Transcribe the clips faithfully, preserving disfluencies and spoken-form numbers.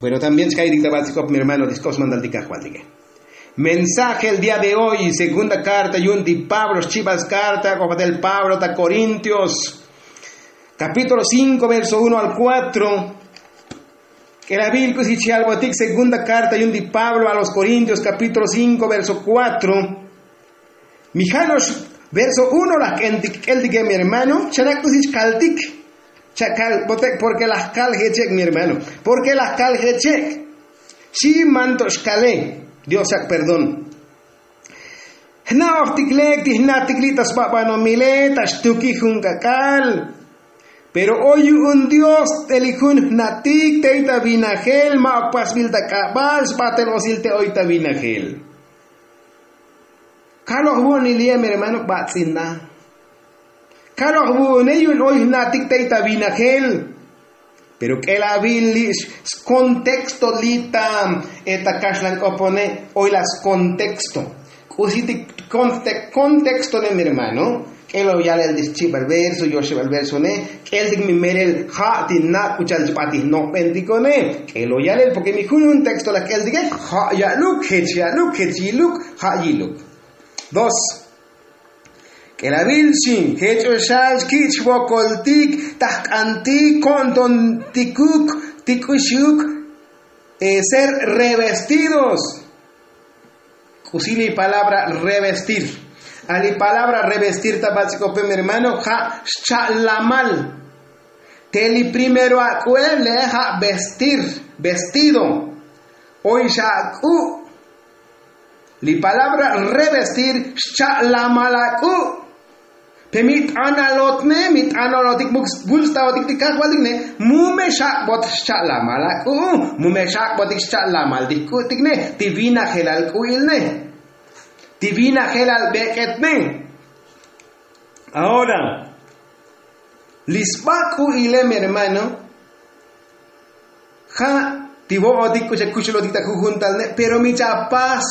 Bueno, también chkaytik ta batz'ikop mi hermano diskos mandaltik ajvaltike. Mensaje el día de hoy segunda karta yu'un ti pablo xchibal skarta k'opatel pablo ta korintios, kapítulo cinko verso uno al kuatro. K'elabil k'usi chi albotik segunda karta yu'un ti pablo a los korintios kapítulo cinko verso kuatro. Mi ja' no'ox verso uno laj k'eltik k'eltike mi hermano chana' k'usi chkaltik. Chakal botek porke laj kal jechek mi hermano. Porke laj kal jechek. Xi manto' xkale. Dios chak perdón. Jna'ojtik lek ti jnatik li' ta sbabanomile ta xtukij jun k'ak'al. Pero oy yu'un dios t'elik jun jnatik tey ta vinajel ma'ok pasbil ta k'abal sbatel osil te oy ta vinajel. Kaloj vu'unil ye' mi hermano bats'in na. Kaloj vu'une yu'un oy jnatik tey ta vinajel. Pero k'elabil li' skonteksto li' ta eta kaxlan k'opone. Oy la skonteksto k'usi ti kontextone mi hermano. K'elo yalel ti xchibal verso yoxebal versone. K'eltik mi melel ja' ti nak' k'u cha'al chb'atij nojb'entikone. K'elo yalel porke mi jun jun texto laj k'eltike ja' ya'luk jech ya'luk jech yiluk ja' yiluk. Dos. K'elabil xi jech oxal xki' chvokoltik tajk'antik ko'ntontikuk ti k'uxiuk ser revestidos. K'usi li palabra revestir. A li palabra revestir ta batz'ikope mi hermano ja' xcha'lamal. Te li primero ak'u'e le' ja' vestir vestido. Oy xa ak'u'. Li palabra revestir xcha'lamal ak'u'. Pe mi t'analotne mi t'analotik muk sbulstaotik ti kajvaltikne. Mu me xak'bot xcha'lamal ak'u' mu me xak'botik xcha'lamal ti jk'u'tikne ti vinajelal k'u'ilne ti vinajelal bek'etne. Ahora li sba k'u'ile mi hermano ja' ti vo'otik k'u chakuxulotik ta jujuntalne pero mi chapas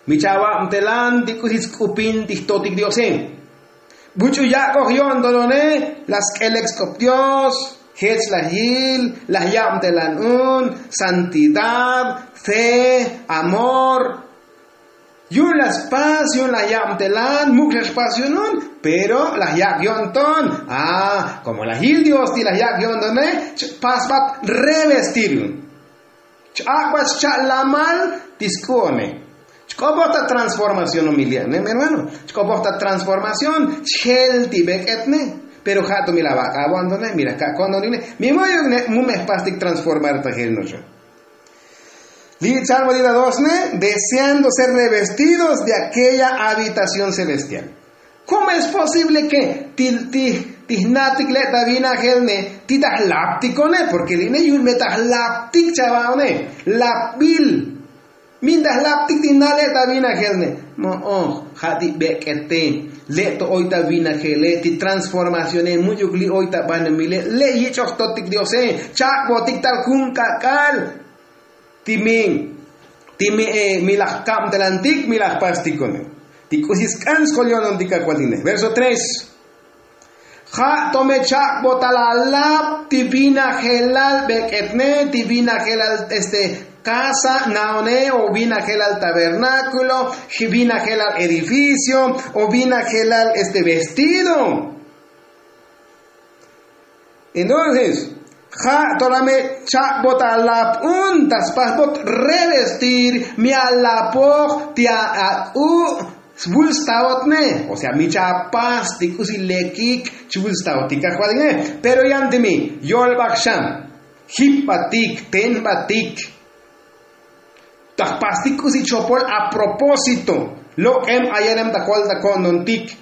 mi chavabtelan ti k'usi sk'upin ti jtotik diose. Buch'u yak'oj yo'ntonone laj sk'elek sk'op dios jech laj yil laj yabtelan un santidad fe amor. Yu'un laj spas yu'un laj yabtelan muk' xa xpas yu'un un pero laj yak' yo'nton. A komo laj yil dios ti laj yak' yo'ntone chpasbat revestir yu'un. Ch'ak'bat xcha'lamal ti sk'u'one. Chk'opoj ta transformación mi li'ane mi hermano. Chk'opoj ta transformación chjel ti bek'etne. Pero ja' to mi laj vak'abo'antone mi laj ka'ko'ntonikne mi mu'yukne mu me jpastik transformar ta jel no'oxo. Li' chalbo ti ta dosne deseando ser revestidos de aquella habitación celestial. Komo es posible ke ti jnatik le' ta vinajelne ti ta jlaptikone porke li' ne yu'un me ta jlaptik chavaone. Lapbil min ta jlaptik ti na le' ta vinajelne. Mo'oj ja' ti bek'ete le' to oy ta vinajele ti transformacione mu'yuk li' oy ta banomile le' yich'oj totik diose. Chak'botik tal jun k'ak'al ti mi ti mi laj kabtelantik mi laj pastikone. Ti k'usi sk'an skol yo'nontik kajvaltikne verso tres. Ja' to me chak'botal alab ti vinajelal bek'etne ti vinajelal este kasa naone o vinajelal tabernákulo vinajelal edificio o vinajelal este vestido. Entonces ja' to la me chak'bot alap un ta spasbot revestir mi alapoj ti ak'u' svulstaotne. O sea mi chapas ti k'usi lekik chvulstaotik kajvaltikne. Pero yan ti mi yolbaj xan jipbatik tenbatik ta jpastik k'usi chopol a propósito lok'em ayenem ta jol ta ko'ntontik.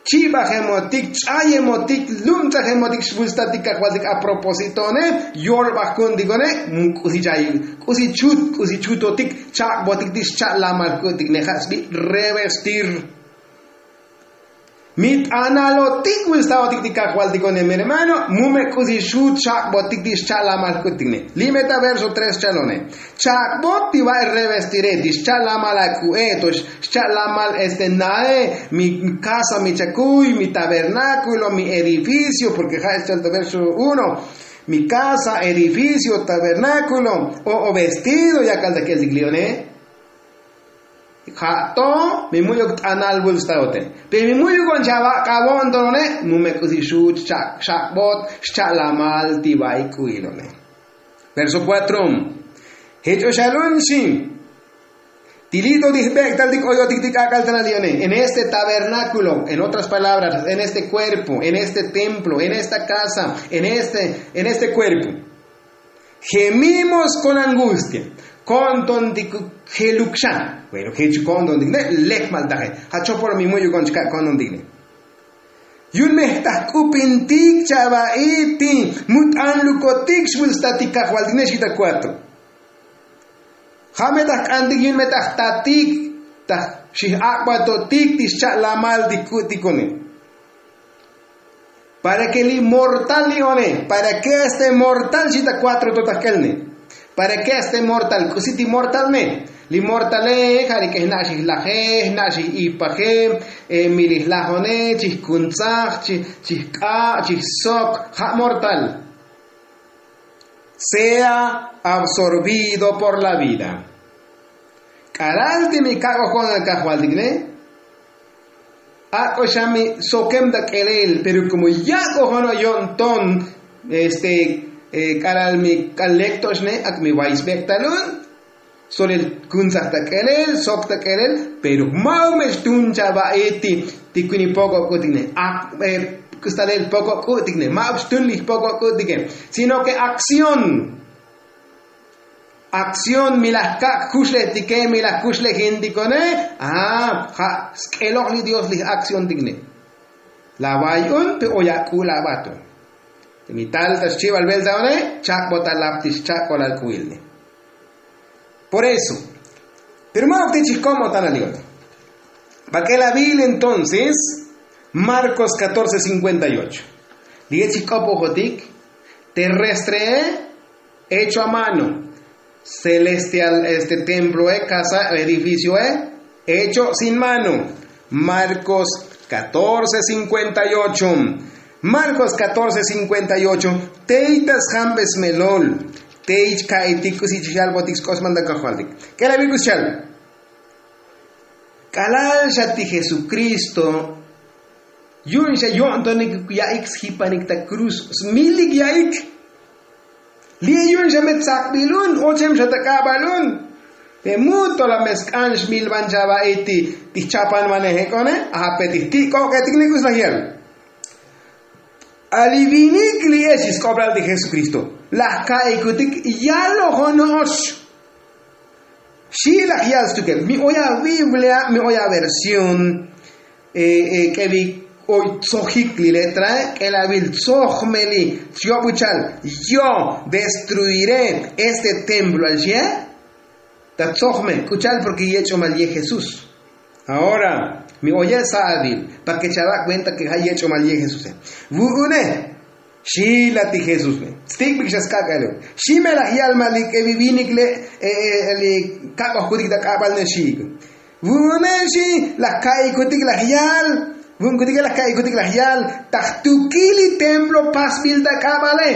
Chi'bajemotik ch'ayemotik lumtsajemotik xvulstatik kajvaltik a propósitone yolbaj ku'untikone. K'usi chut k'usi chutotik chak'botik ti xcha'lamal jku'tikne ja' sbi' revestir. Mi t'analotik vulstaotik ti kajvaltikone mi hermano. Mu me k'usi xu chak'botik ti xcha'lamal jku'tikne li' me ta verso tres chalone. Chak'bot ti va'e revestire ti xcha'lamal ak'u'e to xcha'lamal este nae mi kasa mi chakuy mi tabernákulo mi edificio porke ja' xchal ta verso uno. mi kasa, edificio, tabernákulo, o vestido yakal ta k'eltik li'one. Ja' to mi mu'yuk t'anal vul staote, pero mi mu'yuk on chavak'avo'on tonone mu me k'usi xu' xcha'bot xcha'lamal ti va'ik k'u'ilone. Verso kuatro. Jech o xalun xi, ti li' to ti jbek'tal ti k'oyotik ti k'ak'al tanal li'one, en este tabernákulo, en otras palabras, en este kuerpo, en este templo, en esta kasa, en este en este kuerpo, gemimos kon angustia. Ko'nton ti jeluk xan. Bueno, jech ko'nton ti ne lek maltaje. Ja' chopol mi mu'yuk on chka' ko'nton ti ne. Yu'un me jtaj k'upintik chava'i ti mu t'anlukotik xvul sta ti kajvaltik ne xita kuatro. Ja' me taj k'antik yu'un me taj tatik taj xij ak'batotik ti xcha'lamal ti ku'tikone. Para ke li mortal li'one, para ke este mortal xita kuatro to taj k'elne. Para ke este mortal k'usi ti mortalne? Li mortale ja' li k'e jna' xij laje, jna' xij ipaje, mi li jlajone chij kuntzaj, chij k'a' chij sok, ja' mortal. Sea absorbido por la vida. K'alal ti mi kak'oj ko'nal kajvaltik ne, ak'o xa mi sokem ta k'elel, pero komo yak'oj ono yo'nton este k'alal mi k'al lekto'ox ne, ak mi vay sbek'tal un. Solel kuntzaj ta k'elel sok ta k'elel, pero ma'uk me xtun chava'i ti ti kuini poko' k'u'tik ne, ak stalel poko' k'u'tik ne, ma'uk xtun li jpoko' k'u'tike, sino ke akción. Akción mi laj kak' jkuxlejtike, mi laj kuxlejintikone. A ja' sk'eloj li dios li akcióntik ne. La vay un pe oy ak'ul avato. Mi tal ta xchibal velta one chak'bot alap ti xchak'ol alk'uil ne. Por eso, pero ma'uk ti chij komo tan alion. Bak'el avil entonces marcos catorce cincuenta y ocho. Li' chij k'opojotik terrestre hecho a mano, celestial este templo e casa edificio e hecho sin mano. Marcos catorce cincuenta y ocho. Marcos catorce cincuenta y ocho. Tey ta sjambes melol tey chka'itik k'usi chixalbotik sk'osman ta kajvaltik. K'elabil k'usi chal. K'alal xa ti jesucristo yu'un xa yo'ntonik ya'ik sjipanik ta kruz smilik ya'ik. Li' yu'un xa me tsakbil un ochem xa ta k'abal un. Pe mu to la me sk'an xmilvan chava'i ti jchapanvanej ek'one. Ape ti jtik'ok'etik ne k'usi laj yal. Alivinik li' e xi sk'oblal ti jesukristo laj ka'ikutik yalojono'ox. Xi' laj yal stukel mi oy aviblea mi oy aversión k'evi oy tzojik li letrae k'elavil tzojmeli. Chyob uchal yo destruiré este templo al xie. Ta tzojme k'uchal porke yech'omal ye jesús. Ahora mi oye' sa'avil pa ke chavak' kuenta ke ja' yech'omal ye jesuse. Vu'une xi la ti jesuse. Stik'bik xa skak'ale xi me laj yal ma li k'evi vinik le' li kak'ojkutik ta k'abal ne xi'ik. Vu'une xi laj ka'ikutik laj yal. Vu'unkutike laj ka'ikutik laj yal ta jtukil li templo pasbil ta k'abale.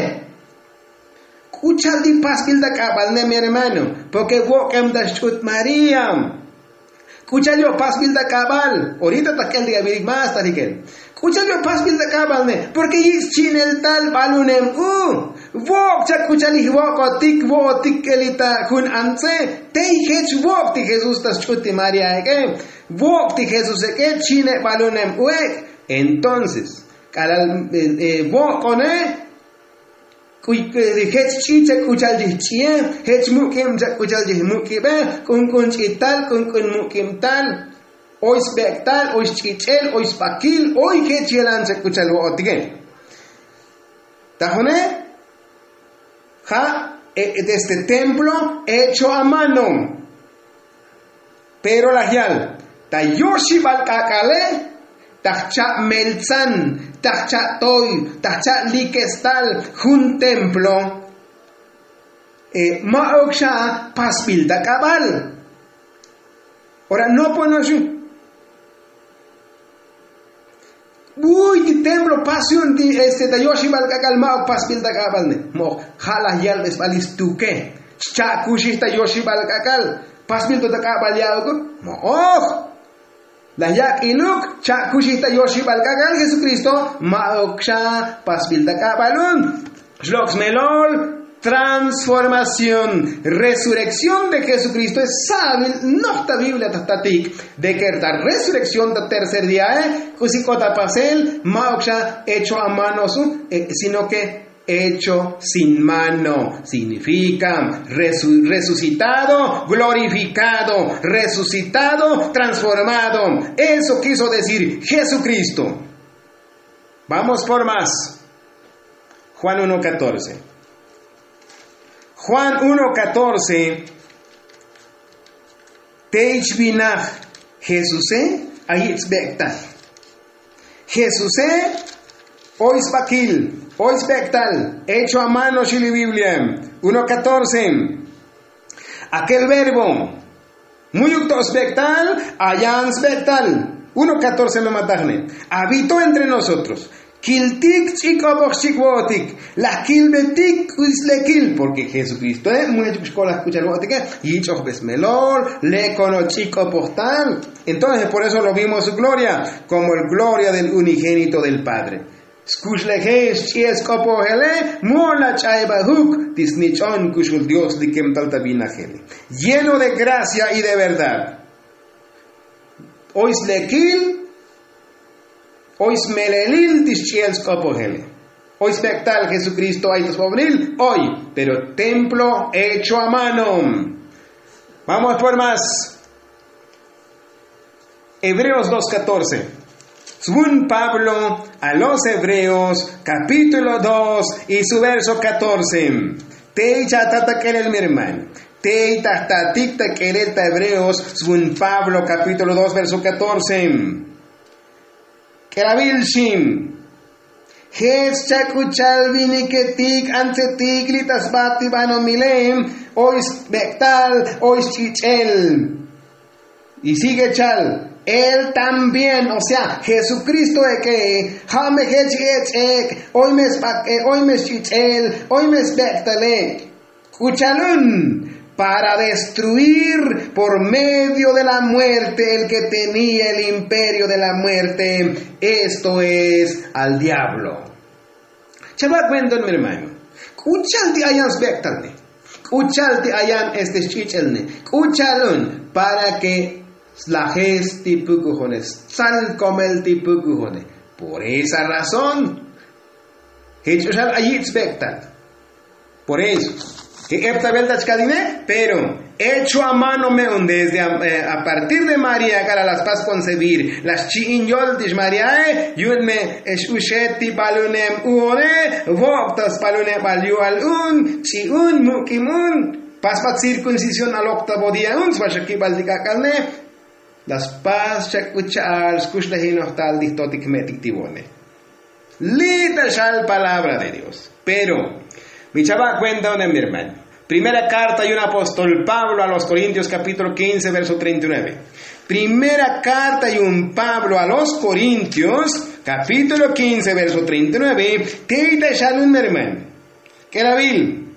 K'u cha'al ti pasbil ta k'abal ne mi hermano? Porke vok'em ta xch'ut maría. K'u cha'al yo' pasbil ta k'abal orita ta k'el ti avirik más ta jikel. K'u cha'al yo' pasbil ta k'abal ne porke yich' chi'nel tal balunem u. Vok' chak k'u cha'al ij vok'otik vo'otik k'eli ta jun antze. Tey jech vok' ti jesús ta xch'ut ti maría ek'e. Vok' ti jesús ek'e chi'ne' balunem u ek'. Entonces k'alal vok'one jech ch'i chak k'u cha'al chij ch'i'e. Jech muk'ib chak k'u cha'al chij muk'ibe. K'unk'un ch'ital k'unk'un muk'ib tal. Oy sbek'tal oy xch'ich'el oy sbakil oy jech yelan chak k'u cha'al vo'otike. Tajune ja' este templo hecho a mano. Pero laj yal ta yoxibal k'ak'ale ta jcha' meltzan ta jcha' toy ta jcha' likestal jun templo. Ma'uk xa pasbil ta k'abal. Ora noponoxi. Buy ti templo pas yu'un ti este ta yoxibal k'ak'al ma'uk pasbil ta k'abal ne. Mo'oj ja' laj yalbesbal istuke. Cha'kuxij ta yoxibal k'ak'al pasbil to ta k'abal ya'ukuk. Mo'oj laj yak'iluk. Cha'kuxij ta yoxibal k'ak'al jesukristo. Ma'uk xa pasbil ta k'abal un. Xlok' smelol transformación, resurrekción de jesukristo es sabil. Noj ta biblia ta jtatik de ke ta resurrekción ta tercer diae. K'usi k'o ta pasel ma'uk xa hecho a mano su sino ke hecho sin mano signifika resu- resucitado, glorifikado, resucitado, transformado. Eso kiso decir jesukristo. Vamos por más. Juan uno catorce. Juan uno catorce. Te ich vinaj jesuse, ayich' sbek'tal. Jesuse, oy sbakil, oy sbek'tal hecho a mano xili biblia. Uno catorce. Akel verbo mu'yuk to' sbek'tal. Ayan sbek'tal. Uno catorce lo matajne. Abito entre nosotros. Kiltik ch'ik'opoj chik'vo'otik. Laj kilbetik k'uslekil porke jesukristoe mu'yuk xkolaj k'uchal vo'otike. Yich'ojbesmelol lekono ch'ik'opoj tal. Entonces por eso lo vimos su gloria como el gloria del unigénito del padre. Skuxleje xch'i'el sk'opojele. Mo'la ch'ayba'juk ti snich'on kuxul dios likem tal ta vinajele lleno de gracia y de verdad. Oy slekil. Oy smelelil ti xch'i'el sk'opojele. Oy sbek'tal jesukristo ay ta sbobnil. Oy pero templo hecho a mano. Vamos por más. Hebreos dos catorce. Svun pablo a los hebreos, capítulo dos y su verso catorce. Tey chata ta k'elel mi hermano. Tey ta jtatik ta k'elel ta hebreos svun pablo capítulo dos verso catorce. K'elavil xim. Jech chak'uchal viniketik antsetik li' ta sba ti banomile. Oy sbek'tal, oy sch'ich'el. Y sigue chal. Él también o sea jesukristo ek'e. Ja' me jech ech'ek'. Oy me sbak'e, oy me sch'ich'el, oy me sbek'tale. K'uchalun para destruir por medio de la muerte el ke tenía el imperio de la muerte, esto es al diablo. Chabak vendon mi hermano. K'uchal ti ayan sbek'talne? K'uchal ti ayan este xch'ich'elne? K'uchalun para ke slajes ti pukujone, sal komel ti pukujone. Por esa razón jech ch'uxal ayich' sbek'tal. Por eso ke epta velta chkadine pero hecho a mano me'un desde a partir de maría k'ala' la spas koncebir la xchi'in yol ti xmariae. Yu'un me x'uxet ti balunem u'one. Vok' ta spalunebal yu'al un ch'i'un muk'im un. Pasbat cirkuncisión alok ta bodía un sba xakibal ti k'ak'alne. La spas chak'ucha'al skuxlejinojtal ti jtotik jme'tik ti vo'ne. Li' ta xal palabra de dios. Pero mi chava' kuenta unem mi hermano. Primera karta yu'un apóstol pablo a los korintios kapítulo kince verso treinta y nueve. Primera karta yu'un pablo a los korintios kapítulo kince verso treinta y nueve. Tey ta xal un mi hermano. K'elavil.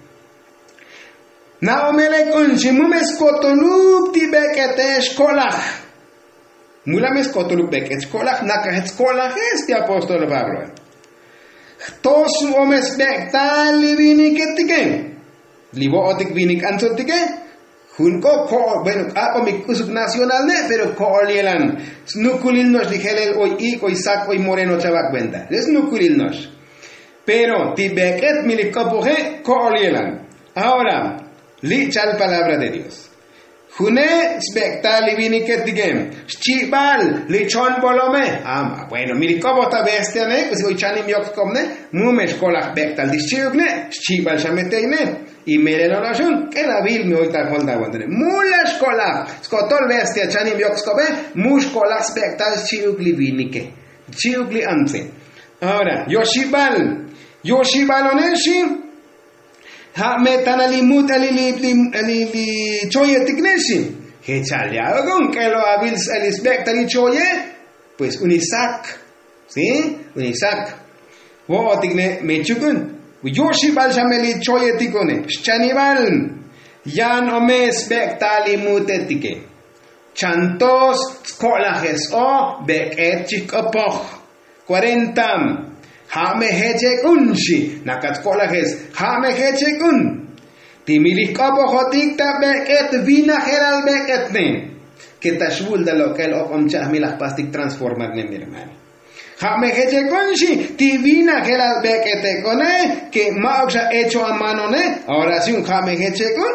Na'omele k'un xi mu me skotoluk ti bek'ete xko'laj. Mu la me skotoluk bek'et xko'laj nakajet xko'lajes ti apóstol pabloe. Jto su'ome sbek'tal li viniketike. Li vo'otik vinik antzotike. Jun k'o ko'ol bueno k'ak'omik k'usuk nacional ne' pero ko'ol yelan. Snukulil no'ox li jelel oy ik' oy sak oy moreno chava' kuenta li' snukulil no'ox. Pero ti bek'et mi li k'opoje' ko'ol yelan. Ahora li' chal palabra de dios. June' sbek'tal li viniketike. Xchibal li chon bolome. Bueno mi li k'opoj ta bestiane k'usi oy chanim yok k'opne. Mu me xkolaj bek'tal ti xchi'uk ne'. Xchibal xa me tey ne'. Y melel ola xun k'elavil mi oy ta jol ta vantane mu la xkolaj skotol bestia chanim yok sk'obe. Mu xkolaj sbek'tal xchi'uk li vinike. Xchi'uk li antse. Ahora yoxibal yoxibal one xi. Ja' me tana li mut'el li li choyetik ne xi. Jechal ya' ok'on k'elo avil s'el li sbek'tal li choye. Pues un isak. Sí, unik sak. Vo'otik ne mechukun. Yoxibal xa me li choyetik one xchanibal. Yan o me sbek'tal li mutetike. Chantos tsko'lajes o bek'et chik'opoj. Kuarenta. Ja' me jechek'un xi. Nakat tsko'lajes ja' me jechek'un. Ti mi li jk'opojotik ta bek'et vinajelal bek'etne. Ke ta xvul ta lok'el ok'om cha'aj mi laj pastik transformarne mi hermano. Ja' me jechek'un xi. Ti vinajelal bek'etek'one ke ma'uk xa echo amanone. Ahora si un ja' me jechek'un.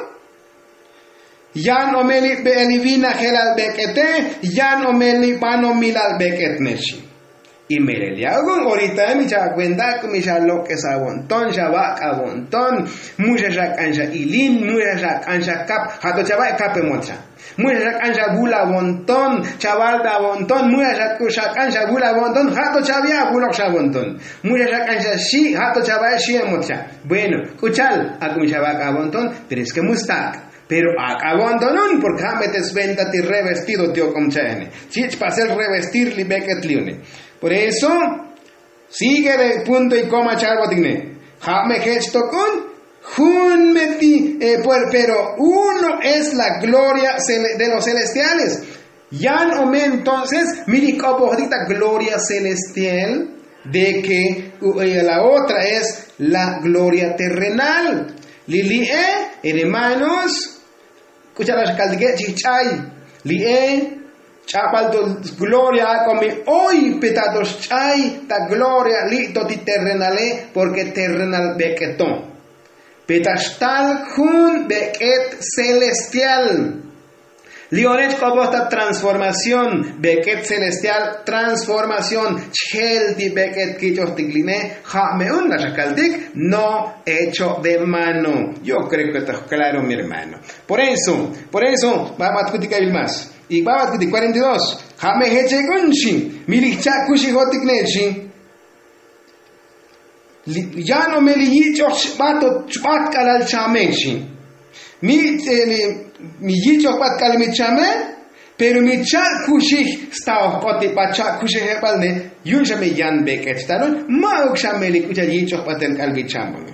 Yan o me li be'el li vinajelal bek'ete. Yan o me li banomilal bek'etne xi. Y melel ya' ok'on orita mi cha'ak kuenta k'u mi xa lok'es avo'nton xa vak' avo'nton. Mu xa xa k'an xa ilin mu xa xa k'an xa kap ja' to chavak' kap emot xa. Mu xa xa k'an xa vul avo'nton. Chaval be avo'nton mu xa xa k'an xa vul avo'nton ja' to chavia' avulok xa avo'nton. Mu xa xa k'an xa xi' ja' to chavak' xi' emot xa. Bueno, k'u chal ak'u mi xa vak' avo'nton. Pero es ke mu stak'. Pero ak'abontonun porke ja' me te sventa ti revestido ti ok'om cha'ene. Chich' pasel revestir li bek'et li une. Por eso sigue de punto y koma chalbotik ne. Ja' me jech tok'un jun me ti pero uno es la gloria de los celestiales. Yan o me entonces mi li jk'opojotik ta gloria celestial de ke la otra es la gloria terrenal. Li li'e hermanos, k'u cha'al ax kaltike chijch'ay li'e ch'abal to gloria ak'o mi oy pe ta to xch'ay ta gloria li' to ti terrenale. Porke terrenal bek'eto pe ta xtal jun bek'et celestial. Li' one chk'opoj ta transformación bek'et celestial transformación chjel ti bek'et kich'ojtik li'ne. Ja' me un la xa kaltik no hecho de mano. Yo kreo ke ta jklaro mi hermano. Por eso por eso babatkutik abil más. Y babatkutik kuarenta y dos. Ja' me jechek'un xi. Mi li jcha'kuxijotik ne xi. Yan o me li yich'oj chbat o chbat k'alal chame xi. Mi yich'oj bat k'alal mi chame. Pero mi cha'kuxij sta oj k'oti bat cha'kuxijebal ne. Yu'un xa me yan bek'et xtalun ma'uk xa me li k'u cha'al yich'oj batel k'alal mi chame.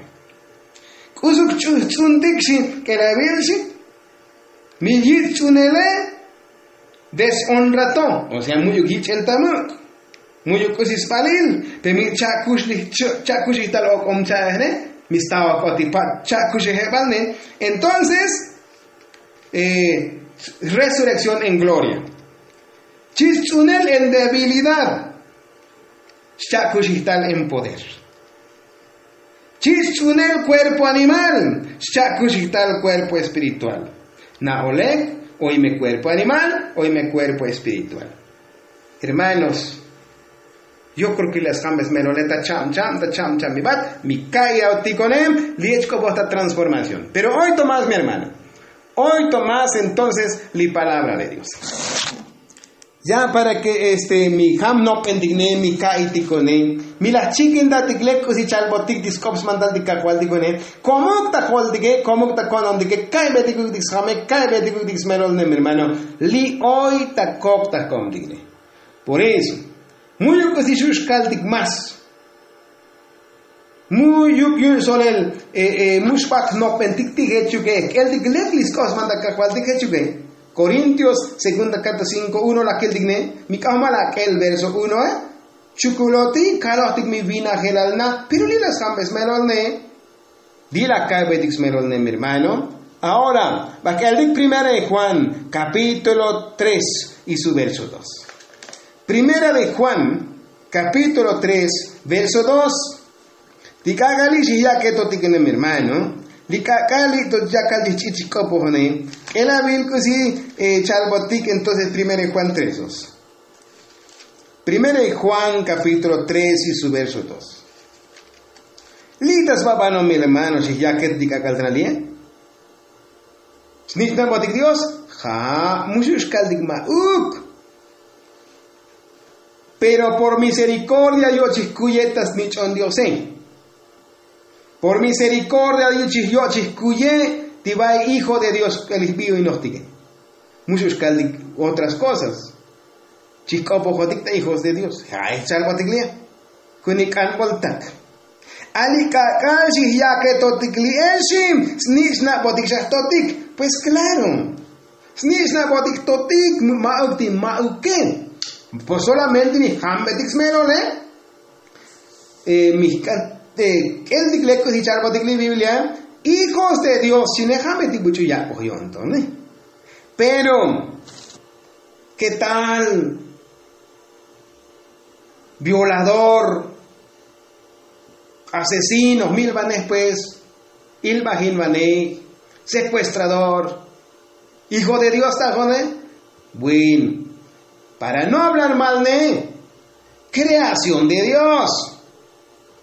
K'usuk ch'uj tz'untik xi. K'elabil xi. Mi yich' ch'unele deshonra to. O sea mu'yuk yich'el ta muk'. Mu'yuk k'usi sbalil. Pe mi cha'kux li cha'kuxij tal ok'om cha'ejne. Mi sta oj k'oti bat cha'kuxijebal ne. Entonces resurrekción en gloria. Chich' tz'unel en debilidad. Xcha'kuxij tal en poder. Chich' tz'unel kuerpo animal. Xcha'kuxij tal kuerpo espiritual. Na'olej oy me kuerpo animal oy me kuerpo espiritual. Hermanos, yo kreo ke li' asjambes melole ta cha'am cha'am ta cha'am cha'am mi bat mi ka'iy aotikonem li' ech k'opoj ta transformación. Pero oy to más mi hermano. Oy to más entonces li palabra de dios. Ya para ke este mi jam nop'entik ne mi ka'iytikone mi laj chikintatik lek k'usi chalbotik ti sk'op smantal ti kajvaltikone. Komuk ta joltike komuk ta ko'ntontike ka'iybetikuk ti sjame ka'iybetikuk ti smelol ne mi hermano. Li' oy ta kok ta komtik ne. Por eso mu'yuk k'usi xu' xkaltik más. Mu'yuk yu'un solel mu xbat jnopbentik ti jechuke jk'eltik lek li sk'op smantal kajvaltik jechuke. Korintios segunda karta cinko uno laj kiltik ne. Mi k'ajmal ak'el verso uno. Chukuloti kalojtik mi vinajelal na pero li' la sjambes melol ne. Di la ka'betik smelol ne mi hermano. Ahora bajk'eltik primera de juan kapítulo tres y su verso dos. Primera de juan kapítulo tres verso dos. Ti k'ak'al li' xijyaketotik ne mi hermano. Li k'ak'al li' to yakal chijch'ich chijk'opojone. K'elabil k'usi chalbotik entonces primera de juan tres dos. Primera de juan kapítulo tres y su verso dos. Li' ta sba banomil hermano xijyaket ti k'ak'al tana li'e. Snich'nabotik dios. Ja' mu xu' xkaltik ma'uk. Pero por miserikordia yo'chij kuye ta snich'on diose. Por miserikordia yo'chij kuye ti ba'i hijo de dios k'elij bi'oinojtike. Mu xu' xkaltik otras kosas. Chijk'opojotik ta hijos de dios. Ay chalbotik li' kunik k'anboltak. Ali k'ak'al xijyaketotik li' exim snich'nabotik xajtotik. Pues klaro, snich'nabotik totik. Ma'uk ti ma'uke. Pues solamente mijambetik smelole. Mijk'an k'eltik lek'u si chalbotik li' biblia. Hijos de dios xine jambetik buch'u yak'oj yo'on tone. Pero ke tal? Violador, asesino milbanej pues, ilbajinbanej, sekuestrador, hijo de dios tajone. Bueno, para no hablar mal ne, kreación de dios.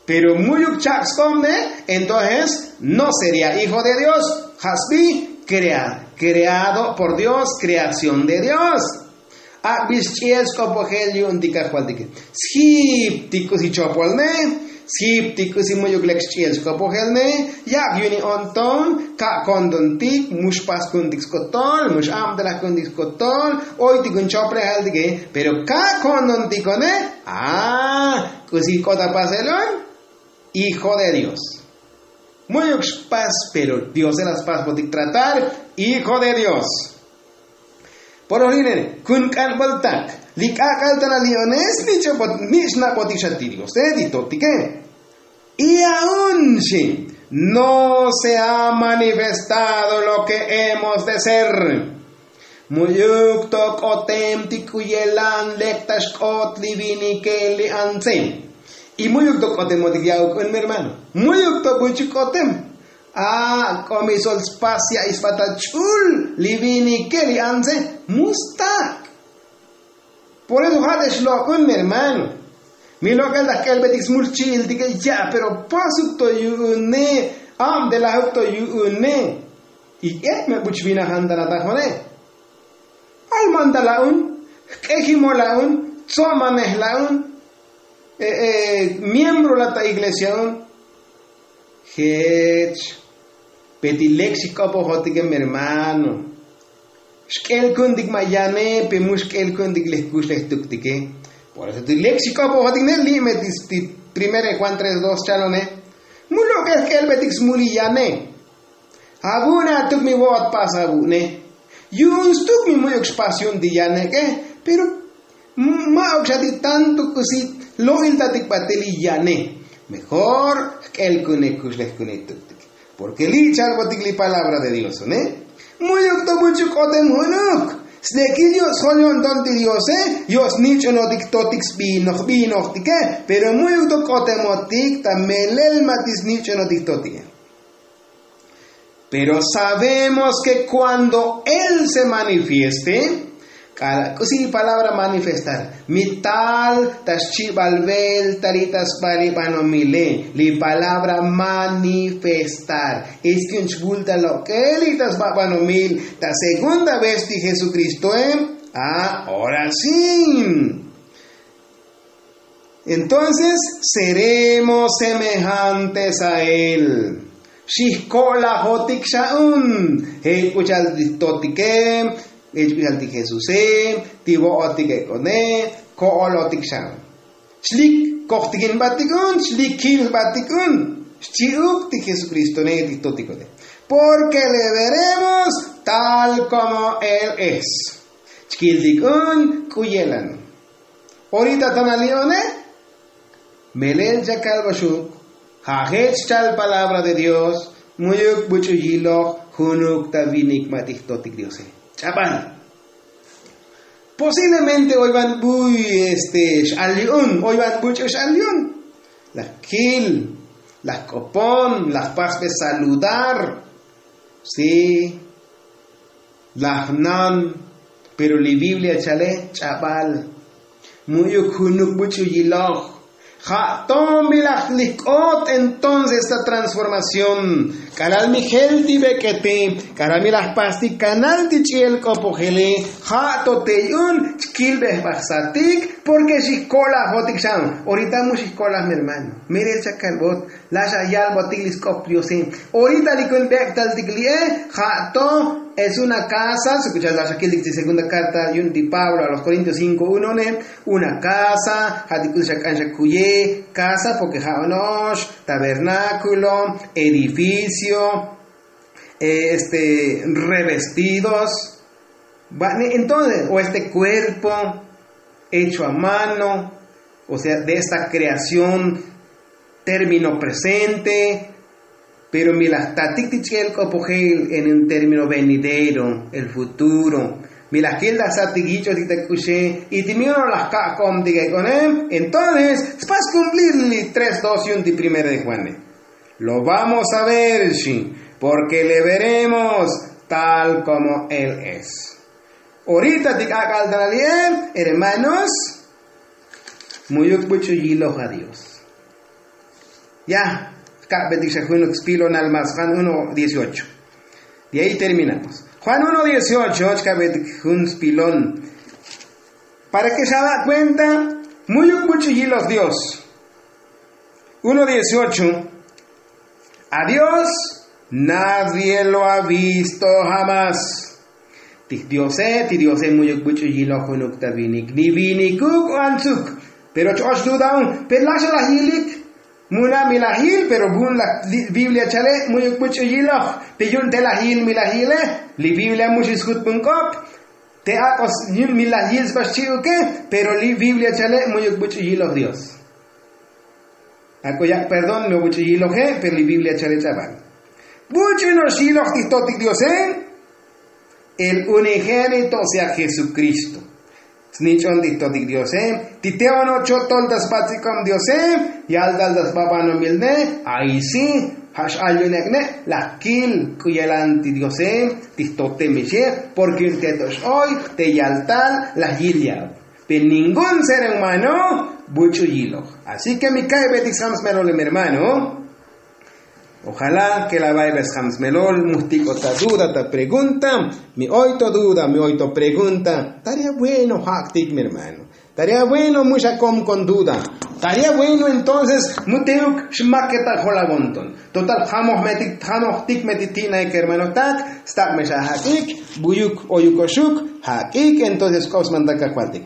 Pero muyuk chak' sk'om ne, entonces no sería hijo de dios. Ja' sbi krea kreado por dios, kreación de dios. Ak'bix ch'i'el sk'opojel yu'un ti kajvaltike. Sjiptik k'usi chopol ne, sjiptik k'usi muyuk lek xch'i'el sk'opojel ne. Yak' yu'un i'on ton ka' kondontik mu xpas ku'untik skotol mu x'abtelaj ku'untik skotol. Oy ti kun choplejal tike. Pero ka' kondontik one. A k'usi k'ot apasel on. Hijo de dios. Mu'yuk xpas pero diose la spasbotik tratar. Hijo de dios. Por olinel kun k'anbol tak li k'ak'al ta la li'ones. Nich'nabotik xa ti diose ti totike. Y aun xi no se ha manifestado lo ke hemos de ser. Mu'yuk to k'otem ti k'u yelan lek ta xk'ot li vinike li antse. Y mu'yuk to k'otemotik ya'uk un mi hermano. Mu'yuk to buch'u k'otem. A k'omi sol spas ya'i sba ta ch'ul li vinike li antse. Mu stak'. Por eso ja' te xlok'un mi hermano. Mi lok'el ta jk'elbetik smul jchi'iltike ya' pero pasuk to yu'une. Abtelajuk to yu'une. Y k'et me buch' vinajan ta natajone. Alman ta la'un, jk'ejimol la'un, tsomanej la'un, miembro la' ta iglesia un. Jech. Pe ti lek xik'opojotike mi hermano. Xk'el ku'untik ma' yane pe mu xk'el ku'untik lek kuxlej tuktike. Por eso ti lek xik'opojotike ne li' me ti primer de juan tres dos chalone. Mu lok'el jk'elbetik smuli yane. Avu'une atuk mi vo'ot pas avu'une. Yu'un stuk mi mu'yuk xpas yu'un ti yaneke. Pero ma'uk xa ti tanto k'usi lo'iltatik batel li yane. Mejor jk'el ku'une kuxlej ku'une tuktik. Porke li' chalbotik li palabra de dios une. Mu'yuk to buch'u k'otem junuk. Slekil yo'os jol yo'nton ti diose yo'os nich'onotik totik sbinoj binojtike. Pero mu'yuk to k'otemotik ta melel ma' ti snich'onotik totike. Pero sabemos ke kuando él se manifieste k'ala' k'usi li palabra manifestar mi tal ta xchibal velta li ta sba li banomile. Li palabra manifestar es ke un chbulta lok'el li ta sba banomil ta segunda vez ti jesukristoe. Ahora si entonces seremos semejantes a él. Xijko'lajotik xa un jech k'u cha'al ti totike, jech k'u cha'al ti jesuse, ti vo'otik ek'one. Ko'olotik xa un. Chlik kojtikin batik un chlik kil batik un. Xchi'uk ti jesukristone ti totikote. Porke le veremos tal komo él es. Chkiltik un k'u yelan. Orita ta nali'one. Melel chakalbaxuk ja' jech chal palabra de dios. Mu'yuk buch'u yiloj junuk ta vinik ma' ti jtotik diose. Ch'abal. Posiblemente oy van buy este x'al yu'un oy van buch'u x'al yu'un. Laj kil, laj k'opon, laj pasbe saludar. Si laj nan. Pero li biblia chale ch'abal. Mu'yuk junuk buch'u yiloj. Ja' tomilaj li jk'ot entonces ta transformación. K'alal mi jel ti bek'eti, k'alal mi laj pastik kanal ti ch'i'el k'opojeli, ja' to te yu'un chkilbejbajsatik, porke xijko'lajotik xan. Orita mu xijko'laj mi hermano, merel xa kalbot, laj xa yalbotik li sk'op diose. Orita li kun bek'taltik li'e, ja' to es una kasa, sukuchal laj xa kiltik ti segunda karta yu'un ti pablo a los korintios cinko uno ne, una kasa ja' ti k'usi xa k'an xa kuye, kasa porke ja' ono'ox, tabernákulo, edificio, este, revestidos. Entonces o este kuerpo hecho a mano, o sea de esta kreación, término presente. Pero mi laj tatik ti ch'i'el k'opojel en un término venidero, el futuro, mi laj kiltajsatik yich'otik ta k'uxe, y ti mi ono' laj ka'komtik ek'one. Entonces spas kumplir li tres dos yu'un ti primera de juane. Lo vamos a ver xi, porke le veremos tal komo él es. Orita ti k'ak'al ta la li'e, hermanos, muyuk buch'u yiloj a dios. Ya, jka'betik xa junuk spilonal mas juan uno dieciocho. De ahí terminamos. Juan uno dieciocho chka'betik jun spilon, para ke xaba' kuenta muyuk buch'u yiloj dios. Uno dieciocho. A dios nadie lo ha visto jamás. Ti jdiose ti diose muyuk buch'u yiloj junuk ta vinik ni vinikuk o antsuk. Pero ch'och duda un, pero laj xa laj yilik. Muna' mi laj yil pero vun laj biblia chale' muyuk buch'u yiloj. Pe yu'un te laj yil mi laj yile. Li biblia mu xisjut vun k'op. Te ak'os yu'un mi laj yil sba xchi'uke. Pero li biblia chale' muyuk buch'u yiloj dios. Ak'o yak' perdón mi obuch'u yiloje. Pero li biblia chale' ch'abal buch'u no'ox yiloj ti jtotik diose. El unigénito o sea jesukristo. Snich'on ti jtotik diose. Ti te ono' cho' tol ta spatz'ik'ob diose, yaltal ta sba banomil ne. Ay si ja' x'al yu'un ek'ne'. Laj kil k'u yelan ti diose ti jtote mixe. Porke yu'un te to x'oy te yaltal laj yil yab. Pe ningún ser humano buch'u yiloj. Así ke mi ka'ybetik sjam smelol mi hermano. Ojala ke la vaybe sjam smelol mu jtik'ot ta duda ta pregunta. Mi oy to duda mi oy to pregunta. Tarea bueno jak'tik mi hermano. Tarea bueno mu xakom kon duda. Tarea bueno entonces mu teuk xmaketal jolagon ton. Total jamojmetik jamojtikmetik ti' naik hermanotak. Stak' me xa jak'ik buyuk oyuk oxuk. Jak'ik entonces k'op smantak kajvaltik.